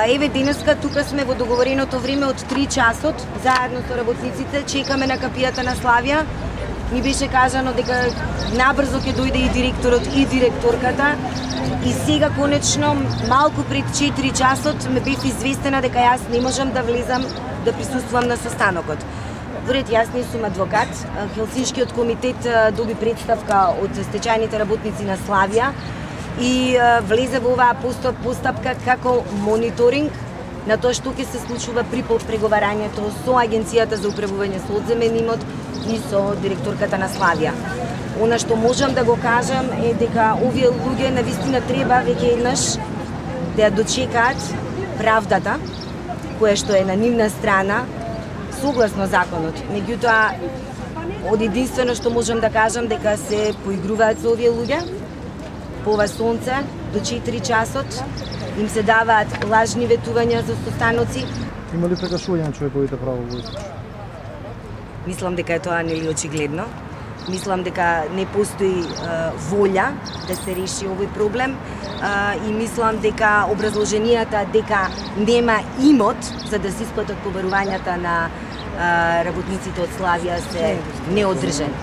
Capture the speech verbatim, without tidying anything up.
Еве денеска тука сме во договореното време од три часот, заедно со работниците, чекаме на капијата на Славија. Ни беше кажано дека набрзо ќе дојде и директорот и директорката. И сега конечно, малку пред четири часот ме бев известена дека јас не можам да влезам да присуствувам на состанокот. Поред јас не сум адвокат, Хелсиншкиот комитет доби представка од стечајните работници на Славија и влезе во оваа постапка како мониторинг на тоа што ќе се случува при преговарањето со Агенцијата за управување со одземен имот и со директорката на Славија. Она што можам да го кажам е дека овие луѓе навистина треба веќе еднаш да дочекаат правдата која што е на нивна страна согласно законот. Меѓутоа, од единствено што можам да кажам дека се поигруваат со овие луѓе, по ова сонце, до четири часот, им се даваат лажни ветувања за состаноци. Има ли прекашување на човековите права во овој случај? Мислам дека е тоа нели очигледно. Мислам дека не постои е, волја да се реши овој проблем е, и мислам дека образложенијата дека нема имот за да се исплатат побарувањата на е, работниците од Славија се неодржани.